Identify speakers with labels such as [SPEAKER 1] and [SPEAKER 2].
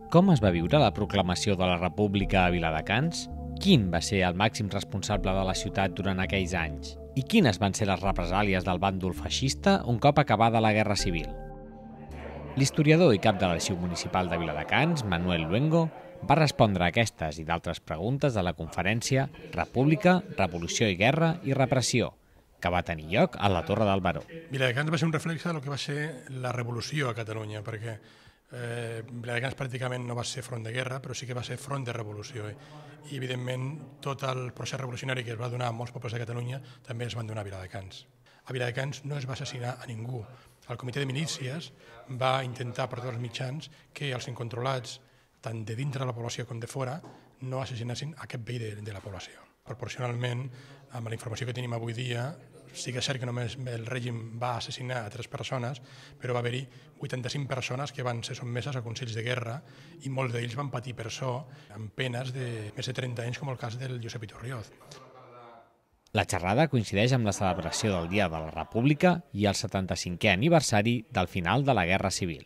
[SPEAKER 1] Com es va viure la proclamació de la República a Viladecans? Quin va ser el màxim responsable de la ciutat durant aquells anys? I quines van ser les represàlies del bàndol feixista un cop acabada la Guerra Civil? L'historiador i cap de l'Arxiu Municipal de Viladecans, Manuel Luengo, va respondre a aquestes i d'altres preguntes de la conferència República, Revolució i Guerra i Repressió, que va tenir lloc a la Torre del Baró.
[SPEAKER 2] Viladecans va ser un reflex del que va ser la revolució a Catalunya, perquè Viladecans pràcticament no va ser front de guerra, però sí que va ser front de revolució. I, evidentment, tot el procés revolucionari que es va donar a molts pobles de Catalunya també es van donar a Viladecans. A Viladecans no es va assassinar a ningú. El comitè de milícies va intentar per tots els mitjans que els incontrolats, tant de dintre de la població com de fora, no assassinessin a cap veí de la població. Proporcionalment, amb la informació que tenim avui dia, sí que és cert que només el règim va assassinar a 3 persones, però va haver-hi 85 persones que van ser sotmeses a consells de guerra i molts d'ells van patir per això amb penes de més de 30 anys, com el cas del Josep Iturrioz.
[SPEAKER 1] La xerrada coincideix amb la celebració del Dia de la República i el 75è aniversari del final de la Guerra Civil.